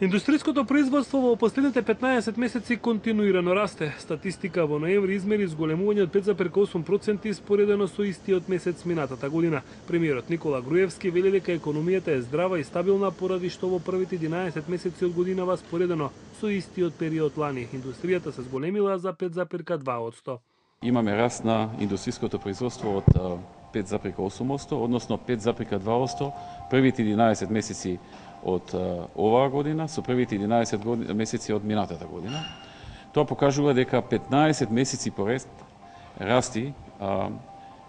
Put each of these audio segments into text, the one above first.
Индустријското производство во последните 15 месеци континуирано расте. Статистика во ноември измери зголемување од 5,8% споредено со истиот месец минатата година. Премиерот Никола Груевски вели дека економијата е здрава и стабилна поради што во првите 11 месеци од годинава споредено со истиот период лани индустријата се зголемила за 5,2%. Имаме раст на индустријското производство од 5,8%, односно 5,2% првите 11 месеци од оваа година со првите 11 месеци од минатата година. Тоа покажува дека 15 месеци поред расти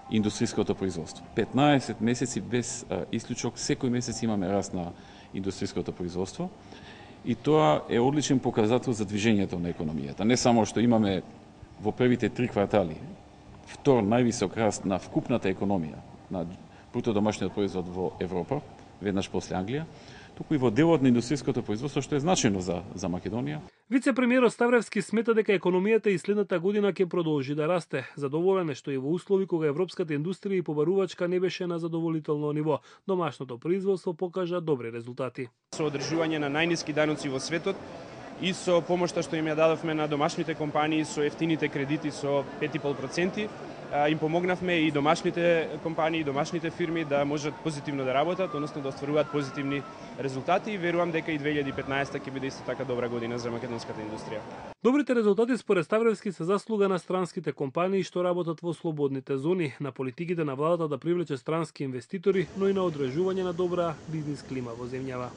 индустријското производство. 15 месеци без исклучок, секој месец имаме раст на индустријското производство и тоа е одличен показател за движењето на економијата. Не само што имаме во првите 3 квартали втор највисок раст на вкупната економија, на бруто домашниот производ во Европа, веднаш после Англија, туку и во делот на индустријското производство, што е значајно за Македонија. Вице-премиерот Ставревски смета дека економијата и следната година ќе продолжи да расте. Задоволен е што и во услови кога европската индустрија и побарувачка не беше на задоволително ниво, домашното производство покажа добри резултати. Со одржување на најниски даноци во светот и со помошта што им ја дадовме на домашните компании со ефтините кредити со 5,5%, им помогнавме и домашните компании, домашните фирми да можат позитивно да работат, односно да остваруваат позитивни резултати и верувам дека и 2015 ќе биде исто така добра година за македонската индустрија. Добрите резултати според Ставревски се заслуга на странските компании што работат во слободните зони, на политиките на владата да привлече странски инвеститори, но и на одржување на добра бизнис клима во земјава.